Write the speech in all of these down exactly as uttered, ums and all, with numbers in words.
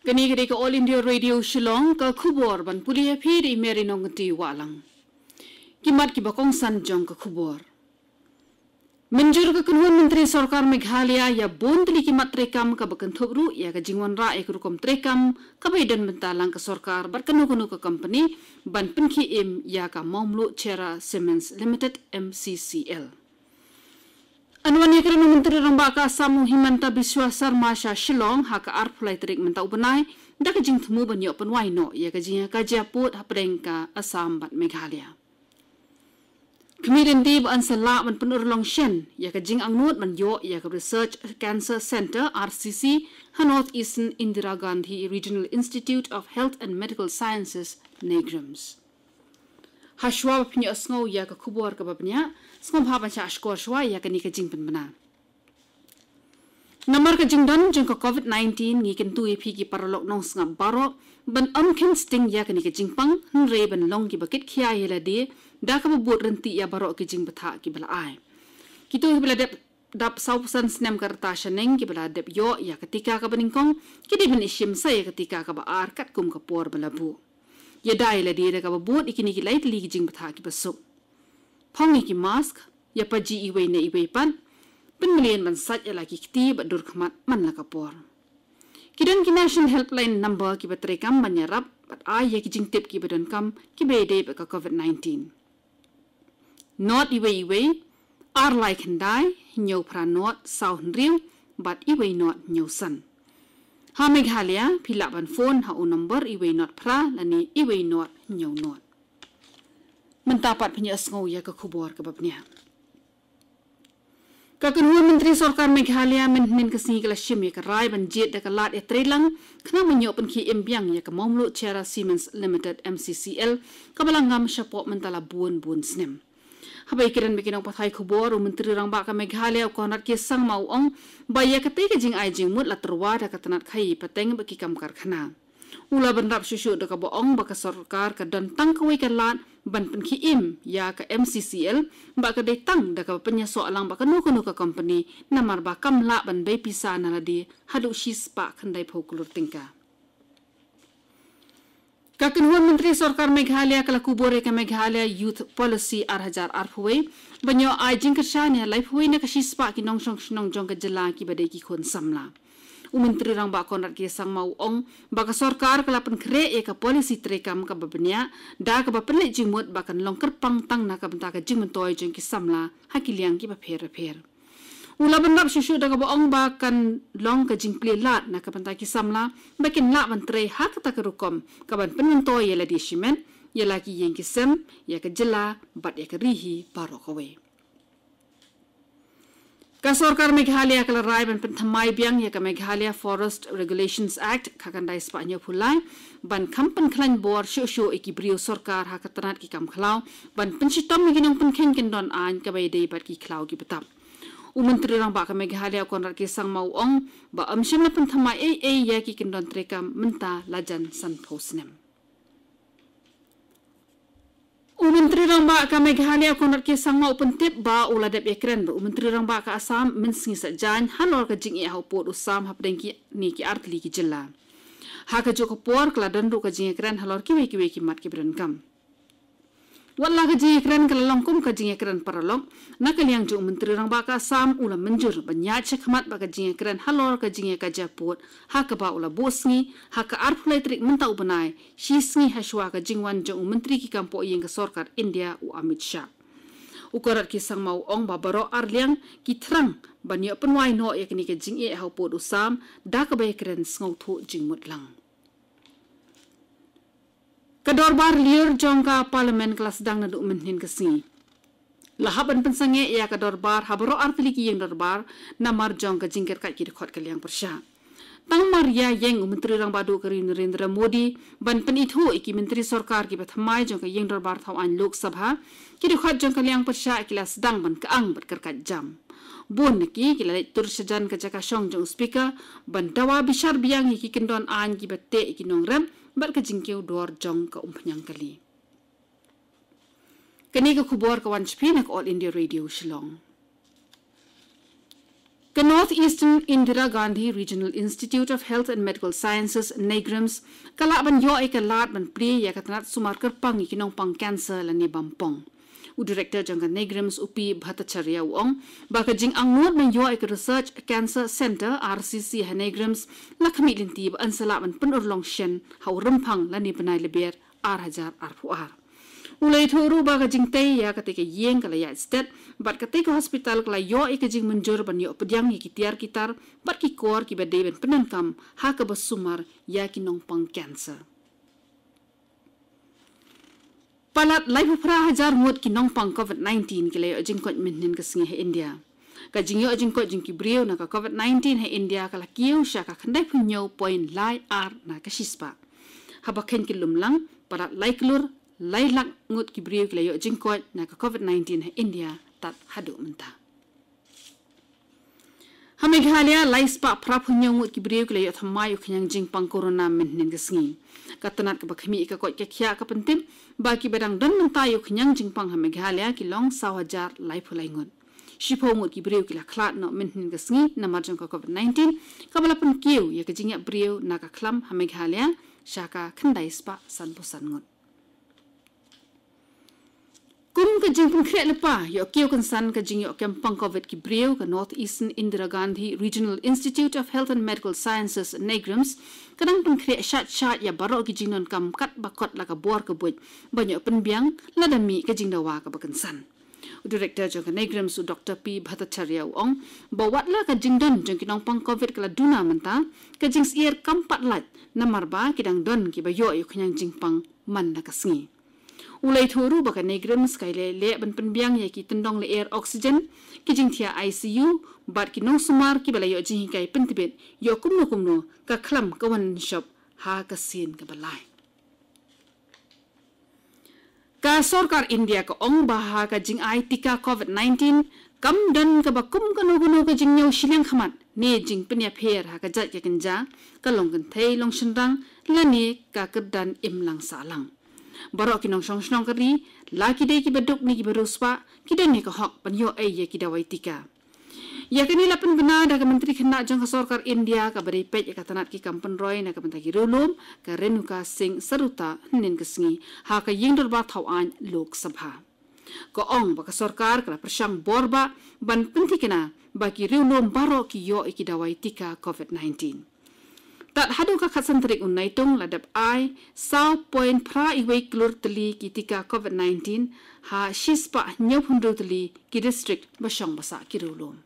Kane ka dei ka All India Radio Shillong, ka khubor ban pule ïa phi da i Mary Nongkynrih Wahlang. Ki mat kiba kongsan jong ka khubor. Mynjur ka kynhun Myntri Sorkar Meghalaya ïa bun tylli ki mat treikam, kaba kynthup ruh ïa ka jingwanrah ïa ka rukom treikam kaba ïadon bynta lang ka sorkar bad kano kano ka kompani ban pynkhie im ïa ka Mawmluh Cherra Cements Limited, M C C L. Yn wan ïakren u Myntri Rangbah ka Assam u Himanta Biswa Sarma sha Shillong ha ka arphew lai tarik mynta u bnai, da ka jingthmu ban ïoh pynwai noh ïa ka jingïakajia pud hapdeng ka Assam bad Meghalaya. Khmih lynti ba yn sa lah ban pynurlong shen ïa ka jingangnud ban ïoh ïa ka Research Cancer Centre, R C C, ha North Eastern Indira Gandhi Regional Institute of Health and Medical Sciences, NEIGRIHMS. Hashwa ba phin ïohsngew ïa ka khubor kaba bniah, sngewbha ban shah shkor shwa ïa kane ka jingpynbna. Namar ka jingdon jong ka COVID nineteen, ngi kyntu ïa phi ki paralok nongsngap baroh ban ym kheiñ sting ïa kane ka jingpang, hynrei ban long kiba kitkhia ïa lade da kaba bud ryntih ïa baroh ki jingbthah kiba la ai. Kito kiba la dep dap sawphew san snem ka rta shaneng kiba la dep ïoh ïa ka tika kaba nyngkong, ki dei ban ïashim sa ïa ka tika kaba ar katkum ka por ba la buh. Ïada ïa lade da kaba bud ïa kine ki lai tylli ki jingbthah kiba suk. Phong ïa ki mask, ïa paji iwei na iwei pat, pynmlien ban sait ïa la ki kti bad dur khmat man la ka por. Ki don ki National Helpline Number kiba treikam ban ïarap bad ai ïa ki jingtip kiba donkam kiba ïadei bad ka COVID nineteen. Not iwei iwei, ar lai khyndai, hynñiew phra not, saw hynriew, bad iwei not hynñiew san. Ha Meghalaya, phi lah ban phone ha u number iwei not phra lane iwei not hynñiew not. Mynta pat phin ïohsngew ïa ka khubor kaba bniah. Ka kynhun Myntri Sorkar Meghalaya mynhynnin ka sngi ka la shim ïa ka rai ban jied da ka lad ïatreilang khnang ban ïoh pynkhie im biang ïa ka Mawmluh Cherra Cements Limited, M C C L, kaba la ngam shapoh mynta la bun bun snem. Haba ïakren bad ki nongpathai khubor, u Myntri Rangbah ka Meghalaya u Conrad K Sangma u ong ba ïa katei ka jingai jingmut la tyrwa da ka tnat khaïi pateng bad ki kam karkhana. U la bynrap shuh shuh da kaba ong ba ka sorkar ka don tang kawei ka lad ban pynkhie im ïa ka M C C L, ba ka dei tang da kaba pynïasoh lang bad kano kano ka kompani, namar ba kam lah ban bei pisa na lade haduh shispah khyndaiphew klur tyngka. Ka kynhun Myntri Sorkar Meghalaya ka la kubur ïa ka Meghalaya Youth Policy ar hajar arphew wei, ban ïoh ai jingkyrshan ïa laiphew wei na ka shispah ki nongshong shnong jong ka jylla kiba dei ki khun samla. U Myntri Rangbah Conrad K Sangma u ong ba ka sorkar ka la pynkhreh ïa ka policy treikam kaba bniah, da kaba pynleit jingmut ba kan long kyrpang tang na ka bynta ka jingmyntoi jong ki samla ha ki liang kiba pher bapher. U la bynrap shuh shuh da kaba ong ba kan long ka jingplie lad na ka bynta ki samla ba kin lah ban trei ha kata ka rukom kaban pynmyntoi ïa lade shimet, ïa la ki ïing ki sem, ïa ka jylla bad ïa ka ri hi baroh kawei. Ka sorkar Meghalaya ka la rai ban pynthymmai biang ïa ka Meghalaya Forest Regulations Act khatkhyndai spah hynñiewphew lai, ban kham pynkhlaiñ bor shuh shuh ïa ki briew sorkar ha ka tnat ki kam khlaw, ban pynshitom ïa ki nongpynkheiñ kyndon aiñ kaba ïadei bad ki khlaw ki btap. U Myntri Rangbah ka Meghalaya u Conrad K Sangma u ong ba ym shym la pynthymmai ei ei ïa ki kyndon treikam mynta la jan sanphew snem. U Myntri Rangbah ka Meghalaya u Conrad K Sangma u pyntip ba u la dep ïakren bad u Myntri Rangbah ka Assam mynsngi saitjaiñ halor ka jingeh ha u pud u sam hapdeng kine ki artylli ki jylla. Ha kajuh ka por ka la don ruh ka jingïakren halor kiwei kiwei ki mat kiba donkam. Wat la ka jingïakren ka la long kum ka jingïakren paralok, na ka liang jong u Myntri Rangbah ka Assam u la mynjur ban ïaid shakhmat bad ka jingïakren halor ka jingïakajia pud, ha kaba u la buh sngi ha ka arphew lai tarik mynta u bnai, shi sngi hashwa ka jingwan jong u Myntri ki kam poh ïing ka sorkar India u Amit Shah. U Conrad K Sangma u ong ba baroh arliang ki thrang ban ïoh pynwai noh ïa kane ka jingeh ha u pud u sam, da kaba ïakren sngewthuh jingmut lang. Ka dorbar lyiur jong ka Parliament ka la sdang naduh mynhynnin ka sngi. La hap ban pynsangeh ïa ka dorbar ha baroh artylli ki ïing dorbar, namar jong ka jingkyrkait ki dkhot ka liang pyrshah. Tang mar ïa ïeng u Myntri Rangbah duh ka ri u Narendra Modi ban pynithuh ïa ki Myntri Sorkar kiba thymmai jong ka ïing dorbar thaw aiñ Lok Sabha, ki dkhot jong ka liang pyrshah ki la sdang ban kyang bad kyrkait jam. Bun na ki ki la leit tur shajan ka jaka shong jong u Speaker ban dawa bishar biang ïa ki kyndon aiñ kiba teh ïa ki nongrep bad ka jingkiew dor jong ka umphniang kali. Kane ka khubor ka wan sha phi na ka All India Radio Shillong. Ka North Eastern Indira Gandhi Regional Institute of Health and Medical Sciences, NEIGRIHMS, ka lah ban ïoh ïa ka lad ban plie ïa ka tnat sumar kyrpang ïa ki nongpang cancer lane bampong. U Director jong ka NEIGRIHMS, u P Bhattacharya, u ong ba ka jingangnud ban ïoh ïa ka Research Cancer Centre, R C C, ha NEIGRIHMS la khmih lynti bad yn sa lah ban pynurlong shen ha u Rymphang lane bnai Lber ar hajar arphew ar. U la ïathuh ruh ba ka jingtei ïa katei ka ïing ka la ïaid stet bad katei ka hospital ka la ïoh ïa ka jingmynjur ban ïoh pdiang ïa ki tiar ki tar bad ki kor kiba dei ban pyndonkam ha kaba sumar ïa ki nongpang cancer. Palat laiphew phra hajar ngut ki nongpang COVID nineteen ki la ïoh jingkoit mynhynnin ka sngi ha India. Ka jingïoh jingkoit jong ki briew na ka COVID nineteen ha India ka la kiew sha ka khyndai phew hynñiew point lai ar na ka shispah. Haba kheiñ ki lumlang, palat lai klur lai lak ngut ki briew ki la ïoh jingkoit na ka COVID nineteen ha India tad haduh mynta. Ha Meghalaya, lai spah phra phew hynñiew ngut ki briew ki la ïoh thymmai ïa u khñiang jingpang corona mynhynnin ka sngi. Ka tnat kaba khmih ïa ka koit ka khiah ka pyntip ba kiba dang don mynta ïa u khñiang jingpang ha Meghalaya ki long saw hajar laiphew lai ngut. Shiphew ngut ki briew ki la khlad noh mynhynnin ka sngi namar jong ka COVID nineteen, kaba la pynkiew ïa ka jingïap briew na ka khlam ha Meghalaya sha ka khyndai spah sanphew san ngut. Kum ka jingpynkhreh lypa ïoh kiew kynsan ka jingïoh kem pang COVID ki briew, ka North Eastern Indira Gandhi Regional Institute of Health and Medical Sciences, NEIGRIHMS, ka dang pynkhreh shait shait ïa baroh ki jingdonkam katba kot la ka bor ka buit ban ïoh pynbiang lada mih ka jingdawa kaba kynsan. U Director jong ka NEIGRIHMS, u Doctor P Bhattacharya, u ong ba wat la ka jingdon jong ki nongpang COVID ka la duna mynta, ka jingsyier kam pat lait namar ba ki dang don kiba ïoh ïa u khñiang jingpang man la ka sngi. U la ïathuh ruh ba ka NEIGRIHMS ka leh leh ban pynbiang ïa ki tyndong lyer oxygen, ki jingthiah I C U bad ki nongsumar kiba la ïoh jinghikai pyntbit ïoh kumno kumno ka khlam ka wan shop ha ka sien kaba lai. Ka sorkar India ka ong ba ha ka jingai tika COVID nineteen kam don kaba kum kano kano ka jingñiew shiliang khmat ne jingpynïapher ha ka jait ka kynja, ka long kynthei long shynrang lane ka kyrdan imlang sahlang. Baroh ki nongshong shnong ka ri, la ki dei kiba duk ne kiba riewspah, ki don ïa ka hok ban ïoh ei ïa ki dawai tika. Ïa kane la pynbna da ka Myntri Khynnah jong ka sorkar India kaba dei peit ïa ka tnat ki kam pynroi na ka bynta ki riewlum, ka Renuka Singh Saruta, hynnin ka sngi ha ka ïing dorbar thaw aiñ Lok Sabha. Ka ong ba ka sorkar ka la pyrshang bor bah ban pynthikna ba ki riewlum baroh ki ïoh ïa ki dawai tika COVID nineteen. Tad haduh ka khatsan tarik u Naitung la dep ai saw point phra wei klur tylli ki tika COVID nineteen ha shispah hynñiewphew hynriew tylli ki district ba shong ba sah ki riewlum.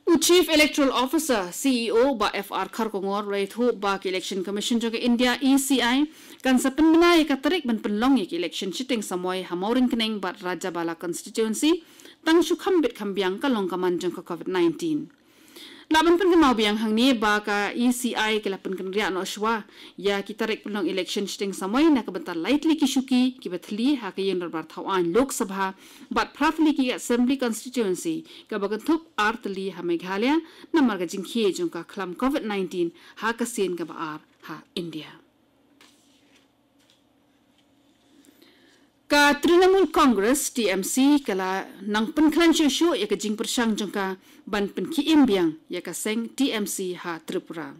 U Chief Electoral Officer, C E O, Bah F R Kharkongor, u la ïathuh ba ka Election Commission jong ka India, E C I, kan sa pynbna ïa ka tarik ban pynlong ïa ka election shiteng samoi ha Mawryngkneng bad Rajabala constituency, tang shu kham bit kham biang ka long ka man jong ka COVID nineteen. Lah ban pynkynmaw biang hangne ba ka E C I ka la pynkynriah noh shuwa ïa ki tarik pynlong election shiteng samoi na ka bynta lai tylli ki shuki kiba thylli ha ka ïing dorbar thaw aiñ Lok Sabha bad phra tylli ki assembly constituency, kaba kynthup ar tylli ha Meghalaya namar ka jingkhie jong ka khlam COVID nineteen ha ka sien kaba ar ha India. Ka Trinamool Congress, T M C, ka la nang pynkhlaiñ shuh shuh ïa ka jingpyrshang jong ka ban pynkhie im biang ïa ka seng T M C ha Tripura.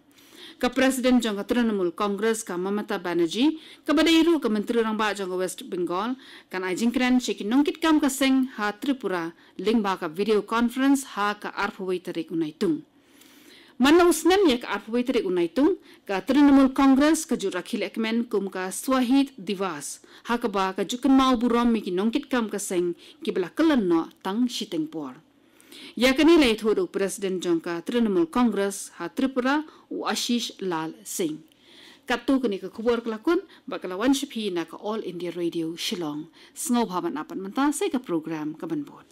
Ka President jong ka Trinamool Congress, ka Mamata Banerjee, kaba dei ruh ka Myntri Rangbah jong ka West Bengal, kan ai jingkren sha ki nongkitkam ka seng ha Tripura lyngba ka video conference ha ka arphew wei tarik u Naitung. Man la u snem ïa ka arphew wei tarik u Naitung, ka Trinamool Congress ka ju rakhe lehkmen kum ka Shahid Diwas, ha kaba ka ju kynmaw burom ïa ki nongkitkam ka seng kiba la kyllon noh tang shiteng por. Ïa kane la ïathuh da u President jong ka Trinamool Congress ha Tripura, u Ashish Lal Singh. Katto kane ka khubor ka la kut bad ka la wan sha phi na ka All India Radio Shillong. Sngewbha ban ap pat mynta sa ïa ka program kaban bud.